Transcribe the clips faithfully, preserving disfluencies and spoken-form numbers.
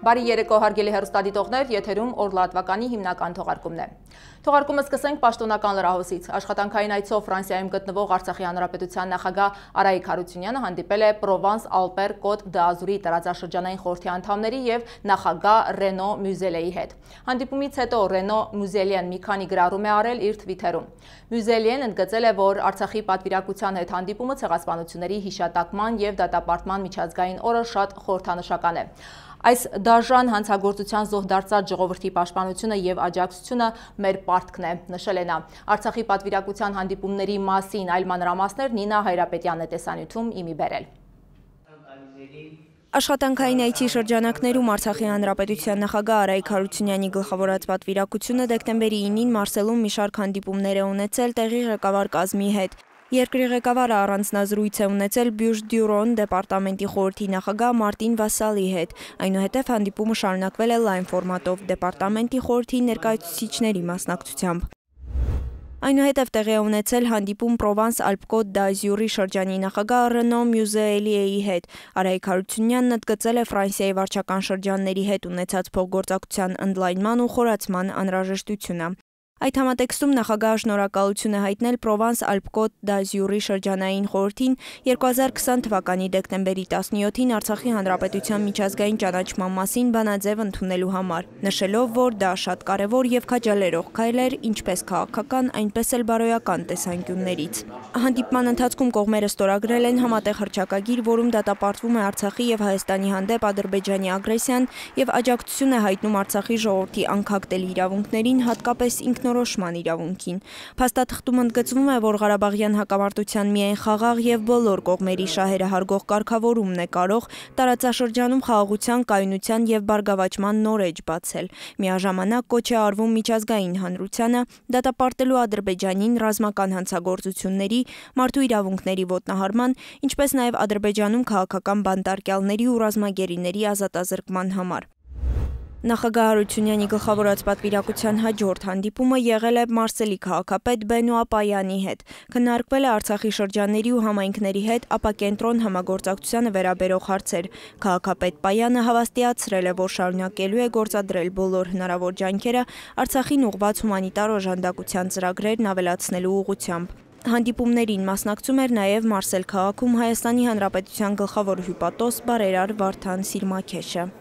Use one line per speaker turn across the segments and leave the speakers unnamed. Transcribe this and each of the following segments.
Բարի երեկո հարգելի հեռուստադիտողներ, եթերում օրլատվականի հիմնական թողարկումն է։ Թողարկումը սկսենք պաշտոնական լրահոսից։ Աշխատանքային այցով Ֆրանսիայում գտնվող Արցախի Հանրապետության նախագահ Արայիկ Հարությունյանը հանդիպել է Պրովանս-Ալպեր-Կոտ դ'Ազուրի տարածաշրջանային խորհրդի անդամների և նախագահ Ռենո Մյուզելեի հետ։ Հանդիպումից հետո Ռենո Մյուզելեն մի քանի գրառում է արել իր թվիթերում։ Մյուզելեն ընդգծել է, որ Արցախի պատվիրակության հետ հանդիպումը ցեղասպանությունների հիշատակման և դատապարտման միջազգային օրը շատ խորհրդանշական է։ Այս դաժան հանցագործության զոհ դարձած ժողովրդի պաշտպանությունը և աջակցությունը մեր պարտքն է, նշել է նա։ Արցախի պատվիրակության հանդիպումների մասին այլ մանրամասներ Նինա Հայրապետյանն է տեսանյութում իմի բերել։
Աշխատանքային այցի շրջանակներում Արցախի Հանրապետության նախագահ Արայիկ Հարությունյանի գլխավորած պատվիրակությունը դեկտեմբերի ինին Մարսելում մի շարք հանդիպումներ է ունեցել տեղի ղեկավար կազմի հետ։ Երկրի ղեկավարը առանձնազրույց է ունեցել Բյուժ-Դյուրոն դեպարտամենտի խորհրդի նախագահ Մարտին Վասալի հետ։ Այնուհետև հանդիպումը շարունակվել է լայն ֆորմատով դեպարտամենտի խորհրդի ներկայացուցիչների մասնակցությամբ։ Այնուհետև տեղի է ունեցել հանդիպում Պրովանս-Ալպեր-Կոտ դ'Ազուրի շրջանի նախագահ Ռենո Մյուզելեի հետ։ Արայիկ Հարությունյանն ընդգծել է Ֆրանսիայի վարչական շրջանների հետ ունեցած փոխգործակցության ընդլայնման ու խորացման անհրաժեշտությունը։ Այդ համատեքստում նախագահը շնորհակալություն է հայտնել Պրովանս-Ալպեր-Կոտ դ'Ազուրի շրջանային խորհրդին երկու հազար քսան թվականի դեկտեմբերի տասնյոթին Արցախի Հանրապետության միջազգային ճանաչման մասին բանաձև ընդունելու համար, նշելով, որ դա շատ կարևոր և քաջալերող քայլ էր ինչպես քաղաքական, այնպես էլ բարոյական տեսանկյուններից։ Հանդիպման ընթացքում կողմերը ստորագրել են համատեղ հռչակագիր, որում դատապարտվում է Արցախի և Հայաստանի հանդեպ Ադրբեջանի ագրեսիան և աջակցություն է հայտնում Արցախի ժողովրդի անքակտելի իրավունքներին, հատկապես ինքնորոշման իրավունքին։ Փաստաթղթում ընդգծվում է, որ Ղարաբաղյան հակամարտության միայն խաղաղ և բոլոր կողմերի շահերը հարգող կարգավորումն է կարող տարածաշրջանում խաղաղության, կայունության և բարգավաճման նոր էջ բացել։ Միաժամանակ կոչ է արվում միջազգային հանրությանը դատապարտելու Ադրբեջանին ռազմական հանցագործությունների, մարդու իրավունքների ոտնահարման, ինչպես նաև Ադրբեջանում քաղաքական բանտարկյալների ու ռազմագերիների ազատազրկման համար։ Նախագահ Հարությունյանի գլխավորած պատվիրակության հաջորդ հանդիպումը եղել է Մարսելի քաղաքապետ Բենուա Պայանի հետ։ Քննարկվել է Արցախի շրջանների ու համայնքների հետ ապակենտրոն համագործակցությանը վերաբերող հարցեր։ Քաղաքապետ Պայանը հավաստիացրել է, որ շարունակելու է գործադրել բոլոր հնարավոր ջանքերը Արցախին ուղղված հումանիտար օժանդակության ծրագրերն ավելացնելու ուղղությամբ։ Հանդիպումներին մասնակցում էր նաև Մարսել քաղաքում Հայաստանի Հանրապետության գլխավոր հյուպատոս բարերար Վարդան Սիրմաքեշը։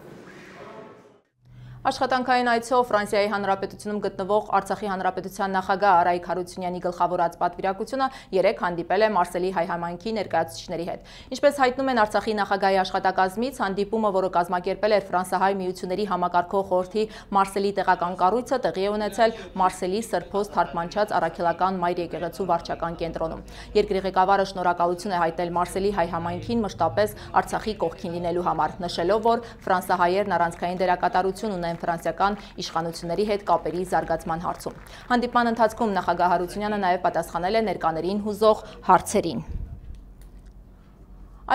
Աշխատանքային այցով Ֆրանսիայի Հանրապետությունում գտնվող Արցախի Հանրապետության նախագահ Արայիկ Հարությունյանի գլխավորած պատվիրակությունը երեկ հանդիպել է Մարսելի հայ համայնքի ներկայացուցիչների հետ։ Ինչպես հայտնում են Արցախի նախագահի աշխատակազմից, հանդիպումը, որը կազմակերպել էր Ֆրանսահայ միությունների համակարգող խորհրդի Մարսելի տեղական կառույցը, տեղի է ունեցել Մարսելի Սրբոց թարգմանչած առաքելական Մայր եկեղեցու վարչական կենտրոնում։ Երկրի ղեկավարը շնորհակալություն է հայտնել Մարսելի հայ համայնքին մշտապես Արցախի կողքին լինելու համար, նշելով, որ ֆրանսահայերն առանցքային դերակատարություն ունեն ֆրանսիական իշխանությունների հետ կապերի զարգացման հարցում։ Հանդիպման ընթացքում նախագահ Հարությունյանը նաև պատասխանել է ներկաներին հուզող հարցերին։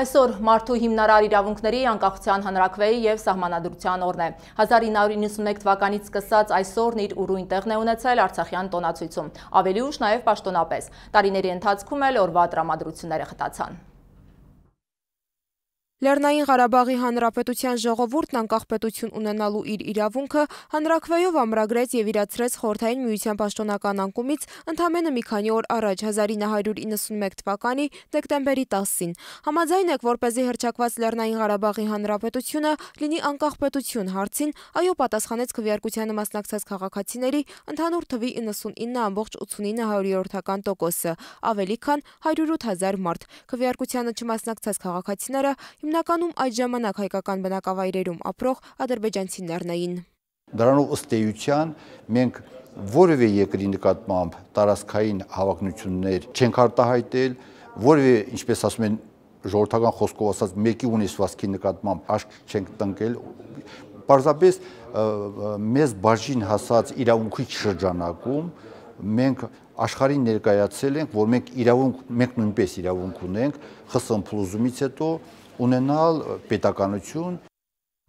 Այսօր մարդու հիմնարար իրավունքների, անկախության հանրաքվեի և սահմանադրության օրն է։ հազար ինը հարյուր իննսունմեկ թվականից սկսած այս օրն իր ուրույն տեղն է ունեցել Արցախյան տոնացույցում, ավելի ուշ նաև պաշտոնապես։ Տարիների ընթացքում էլ օրվա տրամադրությունները խտացան։
Լեռնային Ղարաբաղի Հանրապետության ժողովուրդն անկախ պետություն ունենալու իր իրավունքը հանրաքվեով ամրագրեց և իրացրեց Խորհրդային Միության պաշտոնական անկումից ընդամենը մի քանի օր առաջ հազար ինը հարյուր իննսունմեկ թվականի դեկտեմբերի տասին։ Համաձայն եք, որպեսզի հռչակված Լեռնային Ղարաբաղի Հանրապետությունը լինի անկախ պետություն հարցին, այո պատասխանեց քվեարկությանը մասնակցած քաղաքացիների ընդհանուր թվի իննսունինը ամբողջ ութսունինը հարյուրորդական տոկոսը, ավելի քան հարյուր ութ հազար մարդ։ Քվեարկությանը չմասնակցած քաղաքացիները հիմնականում այդ ժամանակ հայկական բնակավայրերում ապրող ադրբեջանցիներն էին։
Դրանով ըստ էության մենք որևէ երկրի նկատմամբ տարածքային հավակնություններ չենք արտահայտել, որևէ, ինչպես ասում են ժողովրդական խոսքով ասած, մեկի ունեցվածքի նկատմամբ աշկ չենք տնկել, պարզապես մեզ բաժին հասած իրավունքի շրջանակում մենք աշխարհին ներկայացել ենք, որ մենք իրավունք, մենք նույնպես իրավունք ունենք ԽՍՀՄ փլուզումից հետո ունենալ պետականություն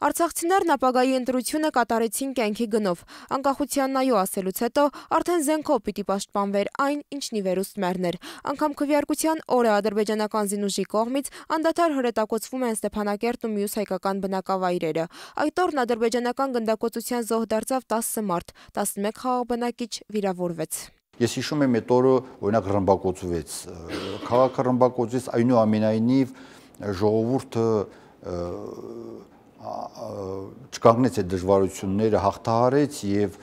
Արցախցիներն ապագայի ընտրությունը կատարեցին կյանքի գնով։ Անկախության նայո ասելուց հետո արդեն զենքով պիտի պաշտպանվեր այն, ինչն ի վերուստ մեռներ։ Անգամ քվեարկության օրը ադրբեջանական զինուժի կողմից անդադար հրետակոծվում են Ստեփանակերտն ու մյուս հայկական բնակավայրերը։ Այդ օրն ադրբեջանական գնդակոծության զոհ դարձավ տասը մարդ, տասնմեկ խաղաղ բնակիչ վիրավորվեց։
Ես հիշում եմ այդ օրը օրինակ ռմբակոծվեց, քաղաքը ռմբակոծվեց, այնուամենայնիվ ժողովուրդը չկանգնեց այդ դժվարությունները, հաղթահարեց եւ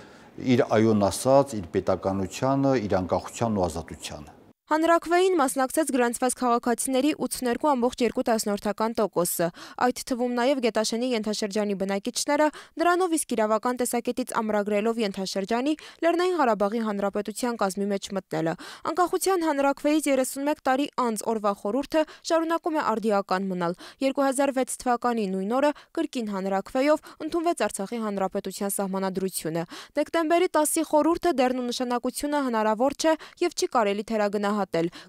իր այոն ասաց իր պետականությանը, իր անկախությանն ու ազատությանը։
Հանրաքվեին մասնակցեց գրանցված քաղաքացիների ութսուններկու ամբողջ երկու տասնորդական տոկոսը, այդ թվում նաև Գետաշենի ենթաշրջանի բնակիչները, դրանով իսկ իրավական տեսակետից ամրագրելով ենթաշրջանի Լեռնային Ղարաբաղի Հանրապետության կազմի մեջ մտնելը։ Անկախության հանրաքվեից երեսունմեկ տարի անց օրվա խորհուրդը շարունակում է արդիական մնալ։ երկու հազար վեց թվականի նույն օրը կրկին հանրաքվեով ընդունվեց Արցախի Հանրապետության սահմանադրությունը։ Դեկտեմբերի տասի խորհուրդը դեռն ու նշանակությունը հնարավոր չէ եւ չի կարելի թերագնահատել։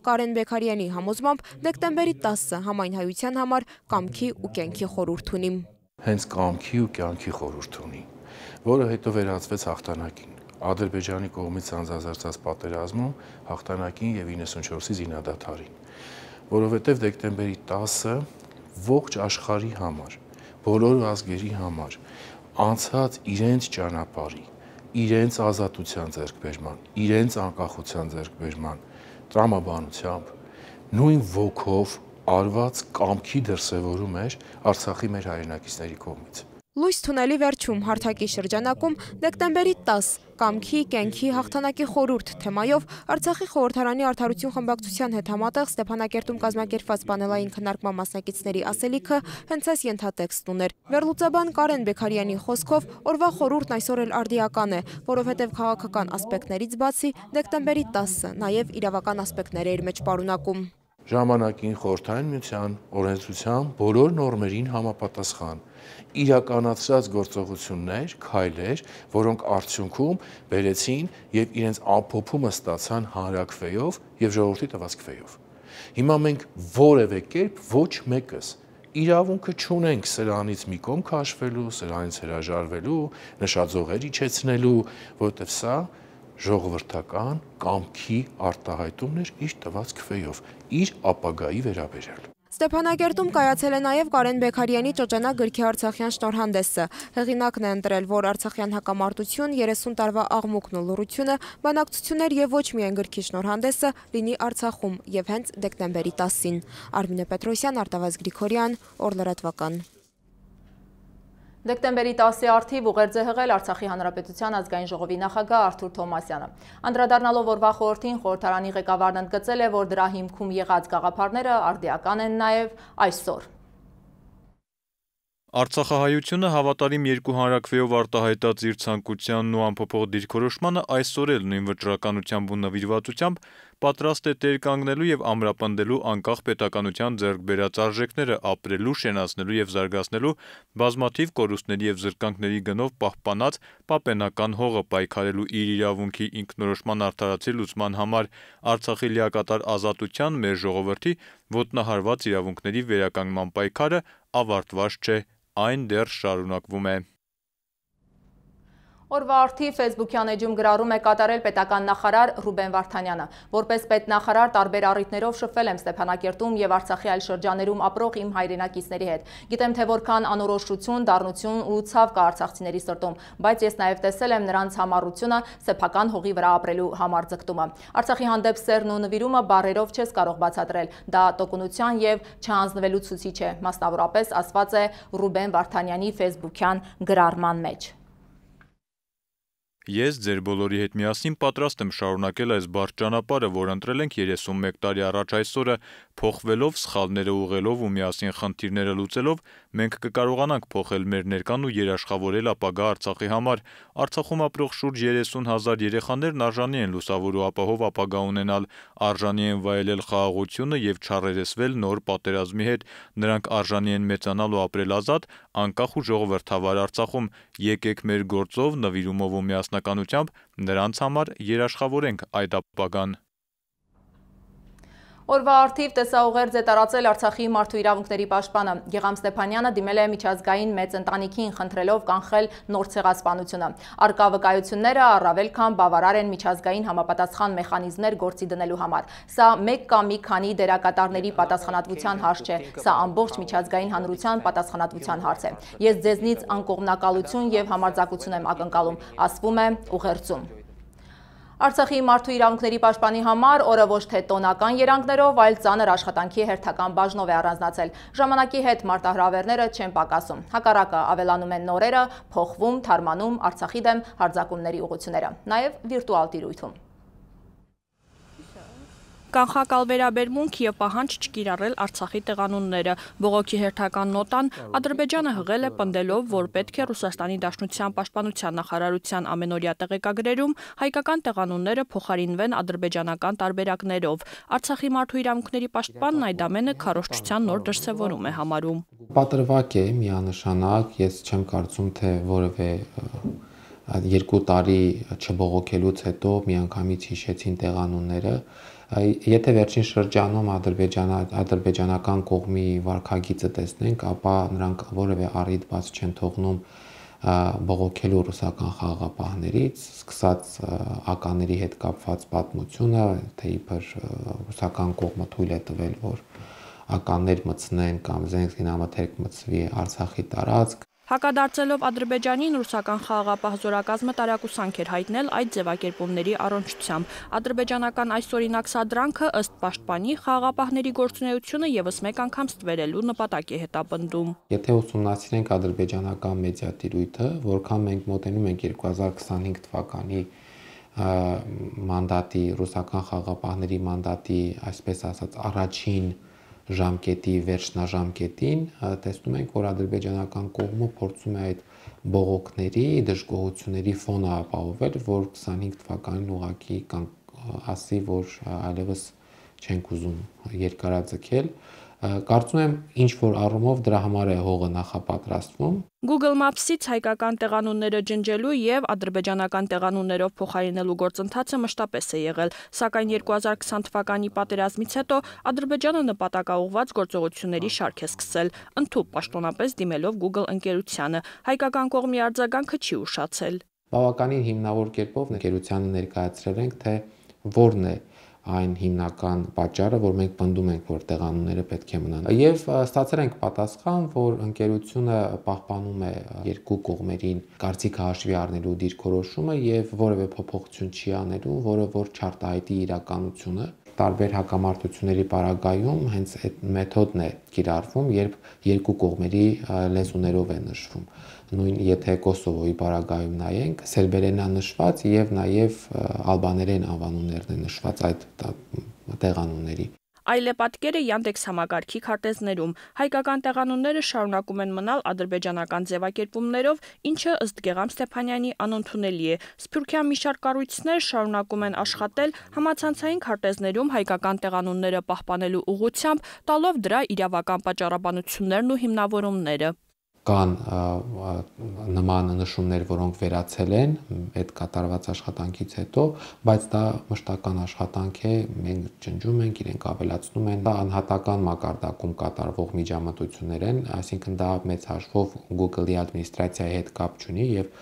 Կարեն Բեքարյանի համոզմամբ դեկտեմբերի տասը համայն հայության համար կամքի ու կյանքի խորհուրդ ունի։
Հենց կամքի ու կյանքի խորհուրդ ունի, որը հետո վերածվեց հաղթանակին։ Ադրբեջանի կողմից անձազերծած պատերազմում հաղթանակին եւ իննսունչորսի զինադադարին, որովհետեւ դեկտեմբերի տասը ողջ աշխարհի համար, բոլոր ազգերի համար անցած իրենց ճանապարհի, իրենց ազատության ձեռքբերման, իրենց անկախության ձեռքբերման տրամաբանությամբ, նույն ոգով արված կամքի դրսևորում էր Արցախի մեր հայրենակիցների կողմից։
Լույս թունելի վերջում հարթակի շրջանակում դեկտեմբերի տասը կամքի, կյանքի, հաղթանակի խորհուրդ թեմայով Արցախի խորհրդարանի արդարություն խմբակցության հետ համատեղ Ստեփանակերտում կազմակերպված պանելային քննարկման մասնակիցների ասելիքը հենց այս ենթատեքստն ուներ։ Վերլուծաբան Կարեն Բեքարյանի խոսքով օրվա խորհուրդն այսօր էլ արդիական է, որովհետև քաղաքական ասպեկտներից բացի դեկտեմբերի տասը նաև իրավական ասպեկտներ էր մեջ պարունակում։
Ժամանակին Խորհրդային Միության օրենսդրության բոլոր նորմերին համապատասխան իրականացրած գործողություններ, քայլեր, որոնք արդյունքում բերեցին եւ իրենց ամփոփումը ստացան հանրաքվեով եւ ժողովրդի տված քվեով։ Հիմա մենք որևէ կերպ ոչ մեկս իրավունքը չունենք սրանից մի կողմ քաշվելու, սրանից հրաժարվելու, նշաձողեր իջեցնելու, որովհետեւ սա ժողովրդական կամքի արտահայտումն էր իր տված քվեով, իր ապագայի վերաբերյալ։
Ստեփանակերտում կայացել է նաև Կարեն Բեքարյանի Ճոճանակ գրքի Արցախյան շնորհանդեսը։ Հեղինակն է ընտրել, որ Արցախյան հակամարտություն, երեսուն տարվա աղմուկն ու լռությունը, բանակցություններ եւ ոչ միայն գրքի շնորհանդեսը լինի Արցախում եւ հենց դեկտեմբերի տասին։ Արմինե Պետրոսյան, Արտավազ Գրիգորյան, Օրլրատվական։
Դեկտեմբերի տասի առթիվ ուղերձ է հղել Արցախի Հանրապետության ազգային ժողովի նախագահ Արթուր Թոմասյանը։ Անդրադառնալով օրվա խորհրդին, խորհրդարանի ղեկավարն ընդգծել է, որ դրա հիմքում եղած գաղափարները արդիական են նաև այսօր։
Արցախահայությունը հավատարիմ երկու հանրաքվեով արտահայտած իր ցանկությանն ու անփոփոխ դիրքորոշմանը այսօր էլ նույն վճռականությամբ ու նվիրվածությամբ պատրաստ է տեր կանգնելու եւ ամրապնդելու անկախ պետականության ձեռք բերած արժեքները ապրելու, շենացնելու եւ զարգացնելու բազմաթիվ կորուստների եւ զրկանքների գնով պահպանած պապենական հողը պայքարելու իր իրավունքի ինքնորոշման արդարացի լուծման համար Արցախի լիակատար ազատության մեր ժողովրդի ոտնահարված իրավունքների վերականգնման պայքարը ավարտված չէ, այն դեռ շարունակվում է։
Օրվա արդիվ Facebook-յան էջում գրառում է կատարել պետական նախարար Ռուբեն Վարդանյանը։ Որպես պետնախարար տարբեր առիթներով շփվել եմ Ստեփանակերտում եւ Արցախի այլ շրջաներում ապրող իմ հայրենակիցների հետ։ Գիտեմ, թե որքան անորոշություն, դառնություն ու ցավ կա արցախցիների սրտում, բայց ես նաեւ տեսել եմ նրանց համառությունը սեփական հողի վրա ապրելու համար ձգտումը։ Արցախի հանդեպ սերն ու նվիրումը բառերով չես կարող բացատրել։ Դա տոկունության եւ չհանձնվելու ցուցիչ է, մասնավորապես ասված է Ռուբեն Վարդանյանի Facebook-յան գրառման մեջ։
Ես ձեր բոլորի հետ միասին պատրաստ եմ շարունակել այս բարդ ճանապարհը, որ ընտրել ենք երեսունմեկ տարի առաջ այսօրը, փոխվելով, սխալները ուղղելով ու միասին խնդիրները լուծելով, մենք կկարողանանք փոխել մեր ներկան ու երաշխավորել ապագա Արցախի համար։ Արցախում ապրող շուրջ երեսուն հազար երեխաներն արժանի են լուսավոր ու ապահով ապագա ունենալ, արժանի են վայելել խաղաղությունը եւ չառերեսվել նոր պատերազմի հետ։ Նրանք արժանի են մեծանալ ու ապրել ազատ, անկախ ու ժողովրդավար Արցախում։ Եկեք մեր գործով, նվիրումով ու միասնականությամբ նրանց համար երաշխավորենք այդ ապագան։
Օրվա արդիվ տեսաուղերձ է տարածել Արցախի մարդու իրավունքների պաշտպանը։ Գեգամ Ստեփանյանը դիմել է միջազգային մեծ ընտանիքին խնդրելով կանխել նոր ցեղասպանությունը։ Արկա վկայությունները առավել քան բավարար են միջազգային համապատասխան մեխանիզմներ գործի դնելու համար։ Սա մեկ կամ մի քանի դերակատարների պատասխանատվության հարց չէ, սա ամբողջ միջազգային հանրության պատասխանատվության հարց է։ Ես ձեզնից անկողմնակալություն եւ համարձակություն եմ ակնկալում, ասվում է ուղերձում։ Արցախի մարդու իրավունքների պաշտպանի համար օրը ոչ թե տոնական երանգներով, այլ ծանր աշխատանքի հերթական բաժնով է առանձնացել։ Ժամանակի հետ մարտահրավերները չեն պակասում։ Հակառակը ավելանում են նորերը, փոխվում, թարմանում Արցախի դեմ հարձակումների ուղղությունները, նաև վիրտուալ տիրույթում։
Կանխակալ վերաբերմունք եւ պահանջ չկիրառել Արցախի տեղանունները։ Բողոքի հերթական նոտան Ադրբեջանը հղել է պնդելով, որ պետք է Ռուսաստանի Դաշնության պաշտպանության նախարարության ամենօրյա տեղեկագրերում հայկական տեղանունները փոխարինվեն ադրբեջանական տարբերակներով։ Արցախի մարդու իրավունքների պաշտպանն այդ ամենը քարոզչության նոր դրսևորում է համարում։
Պատրվակ է միանշանակ, ես չեմ կարծում, թե որևէ երկու տարի չբողոքելուց հետո միանգամից հիշեցին տեղանունները։ Եթե վերջին շրջանում ադրբեջանական կողմի վարքագիծը տեսնենք, ապա նրանք որևէ առիթ բաց չեն թողնում բողոքելու ռուսական խաղաղապահներից, սկսած ականների հետ կապված պատմությունը, թե իբր ռուսական կողմը թույլ է տվել, որ ականներ մտցնեն կամ զենքինամթերք մտցվի Արցախի տարածք։
Հակադարձելով Ադրբեջանին, ռուսական խաղաղապահ զորակազմը տարակուսանք էր հայտնել այդ ձևակերպումների առնչությամբ։ Ադրբեջանական այսօրինակ սադրանքը ըստ պաշտպանի խաղաղապահների գործունեությունը եւս մեկ անգամ ստվերելու նպատակ է հետապնդում։
Եթե ուսումնասիրենք ադրբեջանական մեդիա տիրույթը, որքան մենք մոտենում ենք երկու հազար քսանհինգ թվականի մանդատի, ռուսական խաղաղապահների մանդատի, այսպես ասած, առաջին ժամկետի վերջնաժամկետին, տեսնում ենք, որ ադրբեջանական կողմը փորձում է այդ բողոքների, դժգոհությունների ֆոնը ապահովել, որ քսանհինգ թվականին ուղղակի ասի, որ այլևս չենք ուզում երկարաձգել։ Կարծում եմ, ինչ որ առումով դրա համար է հողը նախապատրաստվում։
Google Maps-ից հայկական տեղանունները ջնջելու եւ ադրբեջանական տեղանուններով փոխարինելու գործընթացը մշտապես է եղել, սակայն երկու հազար քսան թվականի պատերազմից հետո Ադրբեջանը նպատակաուղղված գործողությունների շարք է սկսել, ընդհանուր պաշտոնապես դիմելով Google ընկերությանը։ Հայկական կողմի արձագանքը չի ուշացել։
Բավականին հիմնավոր կերպով ընկերությանը ներկայացրել ենք, թե որն է այն հիմնական պատճառը, որ մենք պնդում ենք, որ տեղանունները պետք է մնան։ Եվ ստացել ենք պատասխան, որ ընկերությունը պահպանում է երկու կողմերին կարծիքը հաշվի առնելու դիրքորոշումը եւ որևէ փոփոխություն չի անելու, որը որ չարտահայտի իրականությունը։ Տարբեր հակամարտությունների պարագայում հենց այդ մեթոդն է կիրառվում, երբ երկու կողմերի լեզուներով է նշվում։ Նույն եթե Կոսովոյի պարագայում նայենք, սերբերենն է նշված եւ նաեւ ալբաներեն անվանումներն է նշված այդ տեղանունների։
Այլ է պատկերը Yandex համակարգի քարտեզներում։ Հայկական տեղանունները շարունակում են մնալ ադրբեջանական ձևակերպումներով, ինչը ըստ Գեգամ Ստեփանյանի անընդունելի է։ Սփյուռքյան մի շարք կառույցներ շարունակում են աշխատել համացանցային քարտեզներում հայկական տեղանունները պահպանելու ուղղությամբ, տալով դրա իրավական պատճառաբանություններն ու հիմնավորումները։
Կան նման նշումներ, որոնք վերացել են այդ կատարված աշխատանքից հետո, բայց դա մշտական աշխատանք է, մենք ջնջում ենք, իրենք ավելացնում են, դա անհատական մակարդակում կատարվող միջամտություններ են, այսինքն դա մեծ հաշվով Google-ի ադմինիստրացիայի հետ կապ չունի եւ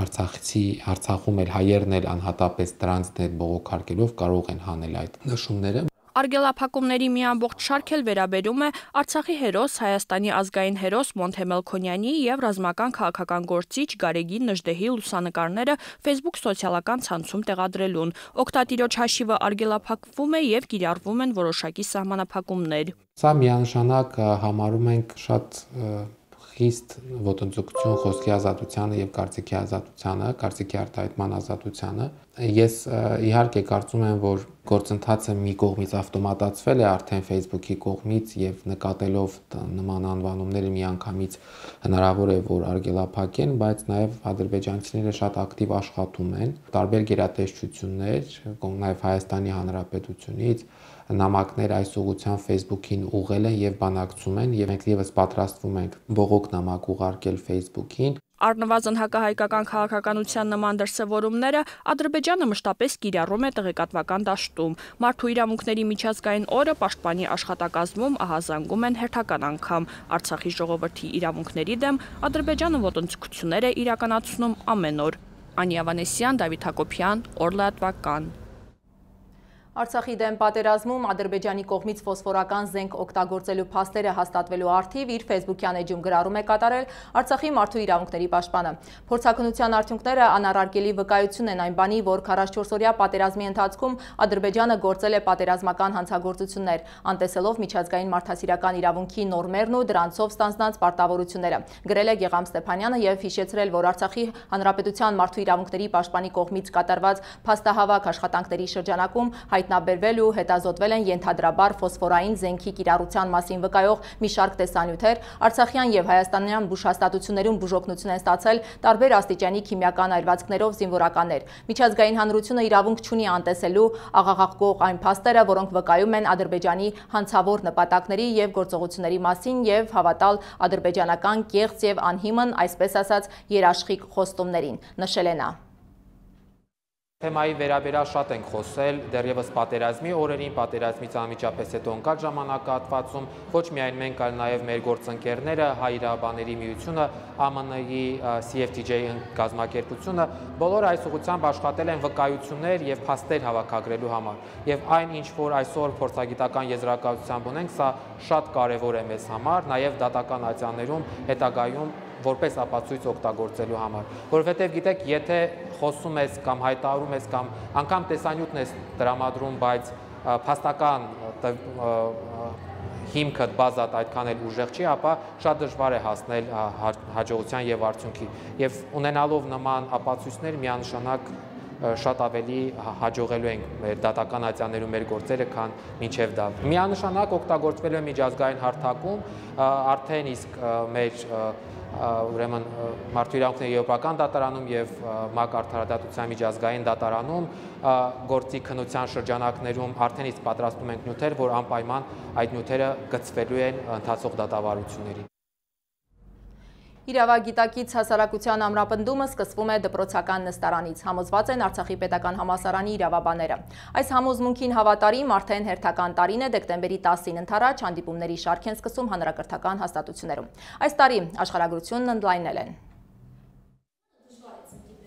Արցախցի Արցախում էլ հայերն էլ անհատապես դրանց դեպ բողոքարկելով կարող են հանել այդ նշումները։
Արգելափակումների մի ամբողջ շարք էլ վերաբերում է Արցախի հերոս, Հայաստանի ազգային հերոս Մոնթե Մելքոնյանի եւ ռազմական քաղաքական գործիչ Գարեգին Նժդեհի լուսանկարները Facebook սոցիալական ցանցում տեղադրելուն։ Օգտատիրոջ հաշիվը արգելափակվում է եւ կիրառվում են որոշակի սահմանափակումներ։
Սա միանշանակ համարում ենք շատ խիստ ոտնձգություն խոսքի ազատությանը եւ կարծիքի ազատությանը, կարծիքի արտահայտման ազատությանը։ Ես իհարկե կարծում եմ, որ գործընթացը մի կողմից ավտոմատացվել է արդեն Facebook-ի կողմից եւ նկատելով նման անվանումները միանգամից հնարավոր է, որ արգելափակեն, բայց նաեւ ադրբեջանցիները շատ ակտիվ աշխատում են, տարբեր գերատեսչություններ, նաեւ Հայաստանի Հանրապետությունից նամակներ այս ուղղությամբ Facebook-ին ուղղել են եւ բանակցում են եւ մենք եւս պատրաստվում ենք բողոք նամակ ուղարկել Facebook-ին։
Առնվազն հակահայկական քաղաքականության նման դրսևորումները Ադրբեջանը մշտապես կիրառում է տեղեկատվական դաշտում։ Մարդու իրավունքների միջազգային օրը պաշտպանի աշխատակազմում ահազանգում են հերթական անգամ։ Արցախի ժողովրդի իրավունքների դեմ Ադրբեջանը ոտնձգություններ է իրականացնում ամեն օր։ Անի Ավանեսյան, Դավիթ Հակոբյան, Օրլատվական։
Արցախի դեմ պատերազմում Ադրբեջանի կողմից ֆոսֆորական զենք օգտագործելու փաստերը հաստատվելու առթիվ իր Facebook-յան էջում գրառում է կատարել Արցախի մարդու իրավունքների պաշտպանը։ Փորձաքննության արդյունքները անառարկելի վկայություն են այն բանի, որ քառասյոթ օրյա պատերազմի ընթացքում Ադրբեջանը գործել է պատերազմական հանցագործություններ, անտեսելով միջազգային մարդասիրական իրավունքի նորմերն ու դրանցով ստանձնած պարտավորությունները։ Գրել է Գեգամ Ստեփանյանը եւ հիշեցրել, որ Արցախի հանրապետության մարդու իրավունքների պաշտպանի կողմից կատարված փաստահավաք աշխատանքների շրջանակում հայտնաբերվել ու հետազոտվել են ենթադրաբար ֆոսֆորային զենքի կիրառության մասին վկայող մի շարք տեսանյութեր, արցախյան եւ հայաստանյան բուժհաստատություններում բուժօգնություն են ստացել տարբեր աստիճանի քիմիական այրվածքներով զինվորականներ։ Միջազգային հանրությունը իրավունք չունի անտեսելու աղաղակող այն փաստերը, որոնք վկայում են Ադրբեջանի հանցավոր նպատակների եւ գործողությունների մասին եւ հավատալ ադրբեջանական կեղծ եւ անհիմն, այսպես ասած, երաշխիք խոստումներին, նշել է նա։
Թեմայի վերաբերյալ շատ ենք խոսել դեռևս պատերազմի օրերին, պատերազմից անմիջապես հետո ընկած ժամանակահատվածում, ոչ միայն մենք, այլ նաև մեր գործընկերները, Հայ իրավաբանների միությունը, Ა Մ Ն-ի C F T J կազմակերպությունը, բոլորը այս ուղղությամբ աշխատել են վկայություններ եւ փաստեր հավաքագրելու համար։ Եվ այն, ինչ որ այսօր փորձագիտական եզրակացությամբ ունենք, սա շատ կարեւոր է մեզ համար, նաև դատական ատյաններում հետագայում որպես ապացույց օգտագործելու համար, որովհետև գիտեք, եթե խոսում ես կամ հայտարարում ես կամ անգամ տեսանյութն ես տրամադրում, բայց փաստական հիմքդ բազատ այդքան էլ ուժեղ չի, ապա շատ դժվար է հասնել հաջողության եւ արդյունքի։ Եվ ունենալով նման ապացույցներ միանշանակ շատ ավելի հաջողելու ենք մեր դատական ատյաններում մեր գործերը, քան մինչև դա։ Միանշանակ օգտագործվել է միջազգային հարթակում, արդեն իսկ մեր ուրեմն մարդու իրավունքների եվրոպական դատարանում եւ ՄԱԿ արդարադատության միջազգային դատարանում գործի քննության շրջանակներում արդեն իսկ պատրաստում ենք նյութեր, որ անպայման այդ նյութերը գծվելու են ընթացող դատավարությունների։
Իրավագիտակից հասարակության ամրապնդումը սկսվում է դպրոցական նստարանից, համոզված են Արցախի պետական համալսարանի իրավաբանները։ Այս համոզմունքին հավատարիմ արդեն հերթական տարին է, դեկտեմբերի տասին ընթരാճ հանդիպումների շարք են սկսում հանրակրթական հաստատություններում։ Այս տարի աշխարհագրությունն ընդլայնել են։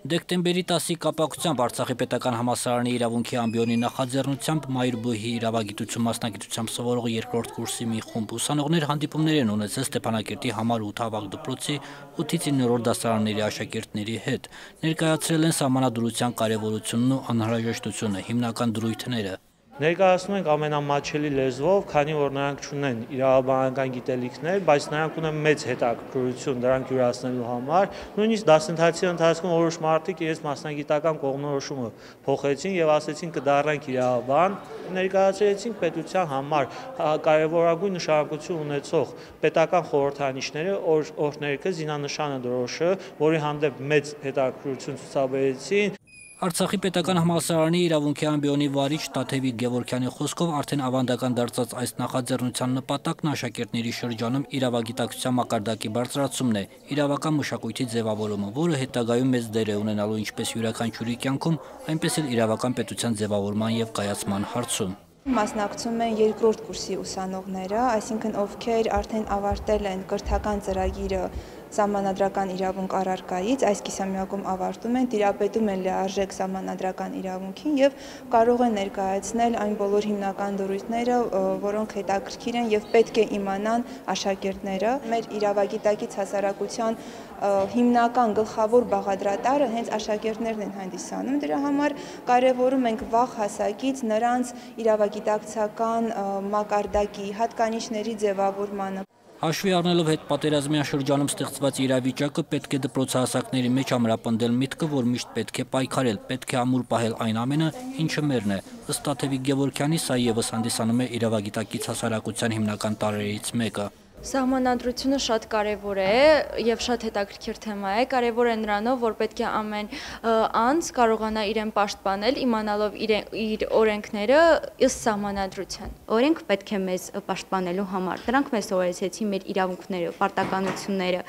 Դեկտեմբերի տասի կապակցությամբ Արցախի պետական համալսարանի իրավունքի ամբիոնի նախաձեռնությամբ Մայրբույհի իրավագիտություն մասնագիտությամբ սովորող երկրորդ կուրսի մի խումբ ուսանողներ հանդիպումներ են ունեցել Ստեփանակերտի համար ութ ավագ դպրոցի ութից իններորդ դասարանների աշակերտների հետ, ներկայացրել են սահմանադրության կարևորությունն ու անհրաժեշտությունը, հիմնական դրույթները։
Ներկայացնում ենք ամենամատչելի լեզվով, քանի որ նրանք չունեն իրավաբանական գիտելիքներ, բայց նրանք ունեն մեծ հետաքրքրություն դրանք յուրացնելու համար։ Նույնիսկ դասընթացի ընթացքում որոշ մարդիկ իրենց մասնագիտական կողմնորոշումը փոխեցին եւ ասեցին կդառնանք իրավաբան, ներկայացրեցինք պետության համար կարևորագույն նշանակություն ունեցող պետական խորհրդանիշները, օրհներգը, զինանշանը դրոշը, որի հանդեպ մեծ հետաքրքրություն ցուցաբերեցին։
Արցախի պետական համալսարանի իրավունքի ամբիոնի վարիչ Տաթևիկ Գևորգյանի խոսքով արդեն ավանդական դարձած այս նախաձեռնության նպատակն աշակերտների շրջանում իրավագիտակցության մակարդակի բարձրացումն է, իրավական մշակույթի ձևավորումը, որը հետագայում մեծ դեր է ունենալու ինչպես յուրաքանչյուրի կյանքում, այնպես էլ իրավական պետության ձևավորման եւ կայացման հարցում։
Մասնակցում են երկրորդ կուրսի ուսանողները, այսինքն ովքեր արդեն ավարտել են կրթական ծրագիրը սահմանադրական իրավունք առարկայից, այս կիսամյակում ավարտում են, տիրապետում են լիարժեք սահմանադրական իրավունքին եւ կարող են ներկայացնել այն բոլոր հիմնական դրույթները, որոնք հետաքրքիր են եւ պետք է իմանան աշակերտները։ Մեր իրավագիտակից հասարակության հիմնական գլխավոր բաղադրատարը հենց աշակերտներն են հանդիսանում, դրա համար կարևորում ենք վաղ հասակից նրանց իրավագիտակցական մակարդակի հատկանիշների ձևավորմանը։
Հաշվի առնելով հետպատերազմյան շրջանում ստեղծված իրավիճակը պետք է դպրոցահասակների մեջ ամրապնդել միտքը, որ միշտ պետք է պայքարել, պետք է ամուր պահել այն ամենը, ինչը մերն է։ Ըստ Տաթևիկ Գևորգյանի, սա ևս հանդիսանում է իրավագիտակից հասարակության հիմնական տարրերից մեկը։
Սահմանադրությունը շատ կարևոր է եւ շատ հետաքրքիր թեմա է։ Կարևոր է նրանով, որ պետք է ամեն անձ կարողանա իրեն պաշտպանել, իմանալով իր օրենքները ըստ սահմանադրության։
Օրենք պետք է մեզ պաշտպանելու համար։ Դրանք մեզ սովորեցեցին մեր իրավունքները, պարտականությունները։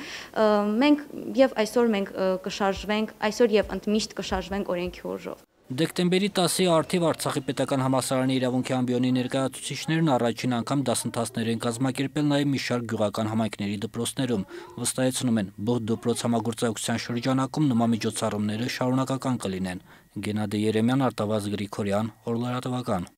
Մենք եւ այսօր մենք կշարժվենք, այսօր եւ ընդմիշտ կշարժվենք օրենքի ուժով։
Դեկտեմբերի տասի արդիվ Արցախի պետական համալսարանի իրավունքի ամբիոնի ներկայացուցիչներն առաջին անգամ դասընթացներ են կազմակերպել նաև մի շարք գյուղական համայնքների դպրոցներում։ Վստահեցնում են, բուհ դպրոց համագործակցության շրջանակում նման միջոցառումները շարունակական կլինեն։ Գենադի Երեմյան, Արտավազդ Գրիգորյան, Օրլարատվական։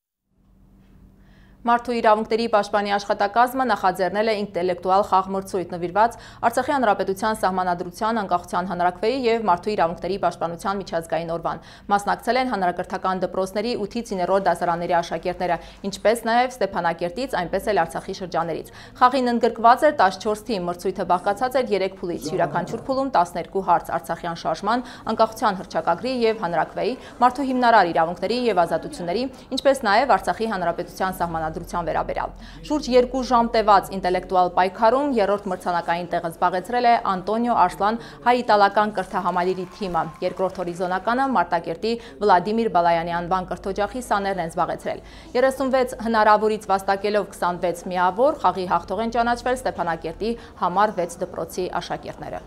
Մարդու իրավունքների պաշտպանի աշխատակազմը նախաձեռնել է ինտելեկտուալ խաղմրցույթ նվիրված Արցախի հանրապետության սահմանադրության, անկախության հանրաքվեի եւ մարդու իրավունքների պաշտպանության միջազգային օրվան։ Մասնակցել են հանրակրթական դպրոցների ութից իններորդ դասարանների աշակերտները, ինչպես նաեւ Ստեփանակերտից, այնպես էլ Արցախի շրջաններից։ Խաղին ընդգրկված էր տասնչորս թիմ, մրցույթը բաղկացած էր երեք փուլից, յուրաքանչյուր փուլում տասներկու հարց Արցախյան շարժման, անկախության հռչակագրի եւ հանրաքվեի, մարդու հիմնարար իրավունքների եւ ազատությունների, ինչպես նաեւ Արցախի հանրապետության սահմանադրության վերաբերյալ։ Շուրջ երկու ժամ տևած ինտելեկտուալ պայքարում երրորդ մրցանակային տեղը զբաղեցրել է Անտոնիո Արսլան հայ-իտալական կրթահամալիրի թիմը, երկրորդ հորիզոնականը Մարտակերտի Վլադիմիր Բալայանի անվան կրթօջախի սաներն են զբաղեցրել։ երեսունվեց հնարավորից վաստակելով քսանվեց միավոր, խաղի հաղթող են ճանաչվել Ստեփանակերտի համար վեց դպրոցի աշակերտները։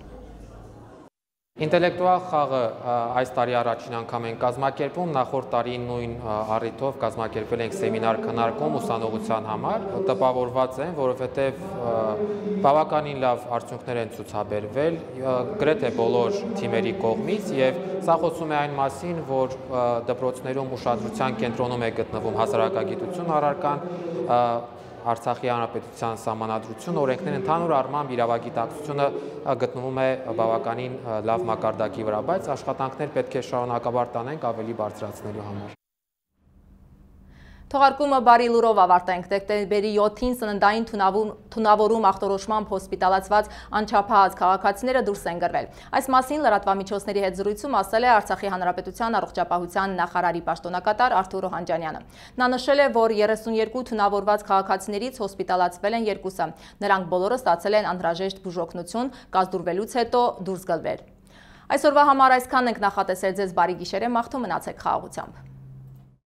Ինտելեկտուալ խաղը այս տարի առաջին անգամ են կազմակերպում, նախորդ տարի նույն առիթով կազմակերպել ենք սեմինար քննարկում ուսանողության համար, տպավորված են, որովհետև բավականին լավ արդյունքներ են ցուցաբերվել, գրեթե բոլոր թիմերի կողմից, եւ սա խոսում է այն մասին, որ դպրոցներում ուշադրության կենտրոնում է գտնվում հասարակագիտություն առարկան, Արցախի հանրապետության սահմանադրություն, օրենքներ ընդհանուր առմամբ իրավագիտակցությունը գտնվում է բավականին լավ մակարդակի վրա, բայց աշխատանքներ պետք է շարունակաբար տանենք ավելի բարձրացնելու համար։
Թողարկումը բարի լուրով ավարտենք։ Դեկտեմբերի յոթին սննդային թունավորում ախտորոշմամբ հոսպիտալացված անչափահաս քաղաքացիները դուրս են գրվել։ Այս մասին լրատվամիջոցների հետ զրույցում ասել է Արցախի հանրապետության առողջապահության նախարարի պաշտոնակատար Արթուր Օհանջանյանը։ Նա նշել է, որ երեսունյերկու թունավորված քաղաքացիներից հոսպիտալացվել են երկուսը։ Նրանք բոլորը ստացել են անհրաժեշտ բուժօգնություն, կազդուրվելուց հետո դուրս գլվել։ Այսօրվա համար այսքանն ենք նախատեսել ձեզ բարի գիշեր եմ, մաղթում մնացեք խաղաղությամբ։